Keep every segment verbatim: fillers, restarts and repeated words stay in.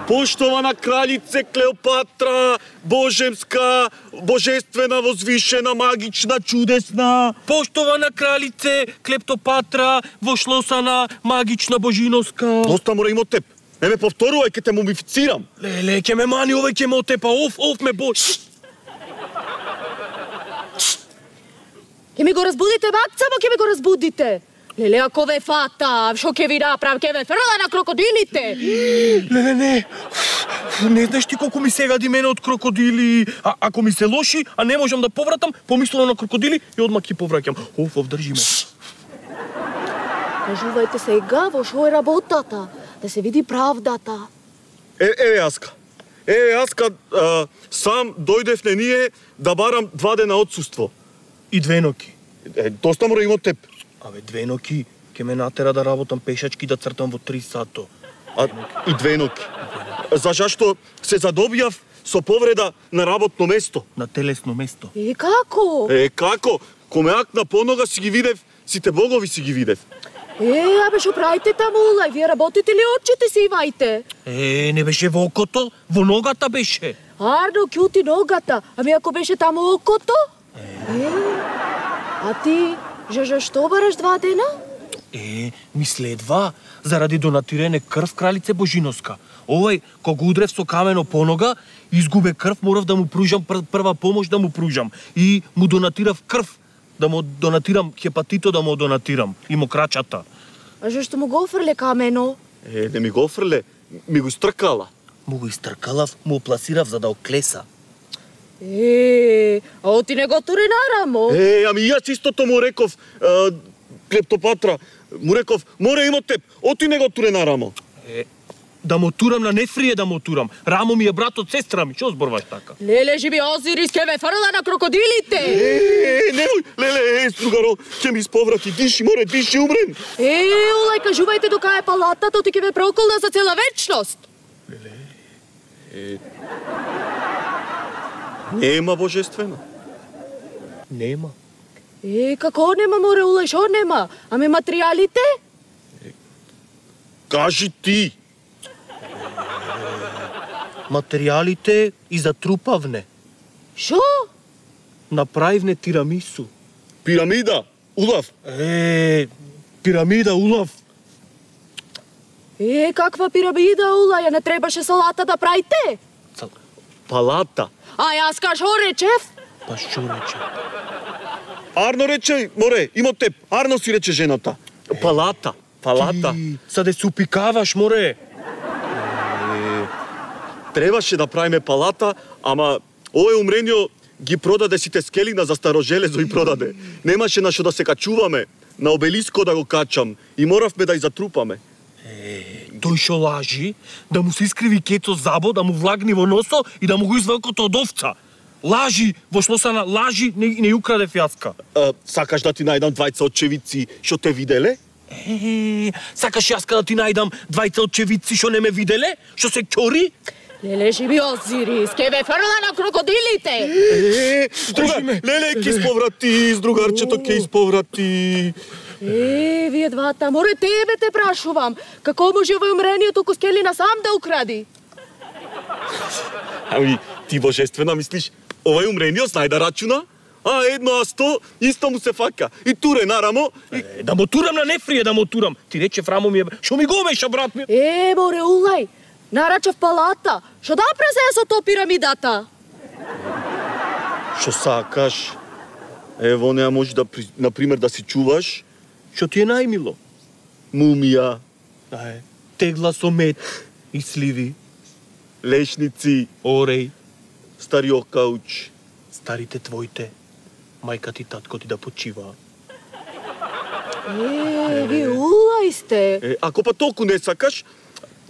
Поштована кралице Клеопатра, божемска, божествена, возвишена, магична, чудесна. Поштована кралице Клептопатра, вошлосана, магична, божиноска. Доста мора има од теб. Не ме повторувај, ке те мумифицирам. Леле, ке ме мани, овој ке ме отепа, оф, оф ме бош. Ке ми го разбудите, бакцамо, ке ми го разбудите. Леле, ако ве фата, шо ке ви направ, ке ве фрла на крокодилите. Леле, не. Не знаеш ти колку ми се гади мене од крокодили. А ако ми се лоши, а не можам да повратам, помислено на крокодили и одма ки повраќам. Оф, оф, држи ме. Кажувајте сега во шо е работата, да се види правдата. Е, еве Аска. Еве Аска, а, сам дојдев на ние да барам два дена отсуство. И две ноки. Е, доста мора има од теб. Абе, две ноки ке ме натера да работам пешачки да цртам во три сато. А, и две ноки. За зашто се задобијав со повреда на работно место. На телесно место. И како? Е, како? Коме акна понога си ги видев, сите богови си ги видев. Е, абе, шо правите таму, улај? Вие работите ли очите си имајте? Е, не беше во окото, во ногата беше. Арно, кјути ногата. Ами ако беше таму окото? Е, а ти, Жажа, што бараш два дена? Е, ми следва, заради донатирање крв кралице Божиноска. Овој, кога удрев со камено по нога, изгубе крв, морав да му пружам пр прва помош да му пружам. И му донатирав крв, да му донатирам хепатито, да му донатирам. И мокрачата. А зашто му го офрле камено? Е, не ми го офрле, ми го стркала. Му го истркалав, му опласирав за да оклеса. Е, а оти не го тури на рамо? Е, ами јас истото му реков, а, Клептопатра, му реков, море има теб, оти не го туре на рамо. Е, да му турам на нефрие да му турам. Рамо ми е брат од сестра ми, што зборваш така? Леле, живи Озирис, ке ве фрла на крокодилите! Е, немој, леле, е, стругаро, ќе ми исповрати, диши, море, диши, умрем. Е, улај, кажувајте дока е палатата, оти ке ве проколна за цела вечност. Леле, е... Нема божествена. Нема. Е, како нема, море, улај, шо нема? Ами материјалите? Кажи ти. Материјалите и затрупавне. Шо? Направивне тирамису. Пирамида, улав. Е, пирамида, улав. Е, каква пирамида, улај, не требаше салата да правите? Палата. А јас ка шо речев? Па шо рече? Арно рече, море, има теб. Арно си рече жената. Палата, палата. Ти, саде се упикаваш, море. Е, требаше да правиме палата, ама овој умренио ги продаде сите скелина за старо железо и продаде. Немаше на што да се качуваме, на обелиско да го качам и моравме да ја затрупаме. Е, тој шо лажи, да му се искриви кецо забо, да му влагни во носо и да му го извелкото од овца. Лажи, во шлосана лажи, не, не украде фјаска. А, сакаш да ти најдам двајца очевици што те виделе? Е, сакаш јаска да ти најдам двајца очевици што не ме виделе? Што се ќори? Леле, живи Озирис, ке ве фрла на крокодилите! Е, друга, леле, ке исповрати, с другарчето ке исповрати. Е, вие двата, море тебе те прашувам. Како може овој умрениот толку скелина сам да укради? Ами, ти божествена мислиш, овој умрениот знај да рачуна? А едно а сто, исто му се фака. И туре нарамо. И... Е, да му турам на нефрие, да му турам. Ти рече рамо ми е, шо ми го меша, брат ми? Е, море, улај, нарачав палата. Шо да презе со то пирамидата? Шо сакаш? Ево, неа може да, например, да си чуваш Што ти е најмило? мумија, Ај, тегла со мед и сливи, лешници, ореј, стариот кауч. старите твоите, мајка ти, татко ти да почиваа. Е, ви улај сте. Е, ако па толку не сакаш,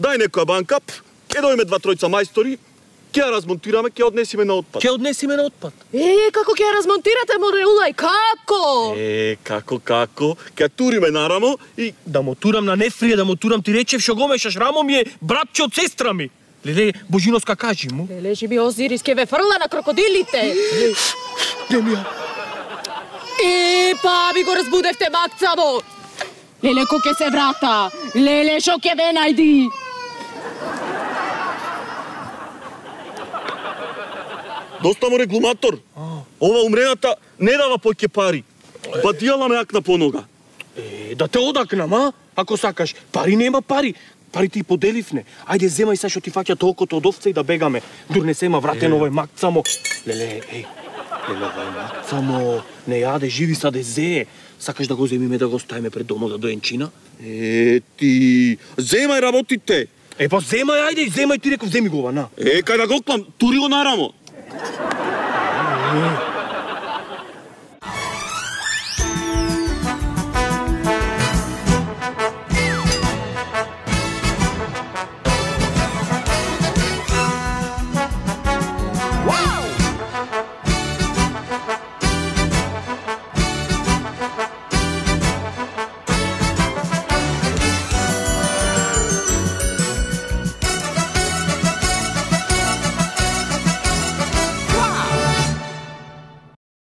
дај некоја банка, ке дојме два тројца мајстори, ќе ја размонтираме, ќе однесиме на отпад. Ќе однесиме на отпад. Е, како ќе ја размонтирате, море, улај, како? Е, како, како, ќе ја туриме нарамо и... Да му турам на нефрие, да му турам, ти речев шо го мешаш, рамо ми е братче од сестра ми. Леле, Божиноска, кажи му. Леле, живи Озирис, ке ве фрла на крокодилите. Не ми ја. Е, па ви го разбудевте, бакцамо. Леле, ко ке се врата. Леле, шо ке ве најди. Доста му регулатор. Ова умрената не дава поќе пари. Па дијала ме акна по нога. Е, да те одакнам, а? Ако сакаш. Пари нема пари. Пари ти поделивне. Ајде, земај се што ти фаќа толкото од овце и да бегаме. Дур не се има вратен овој мак само. Леле, еј. Леле, овој мак само не јаде, живи са дезе. Сакаш да го земиме да го ставиме пред домот да доенчина? Е, ти... Земај работите. Е, па земај, ајде, земај, ти реков, земи го ова, на. Е, кај да го клам, тури го нарамо.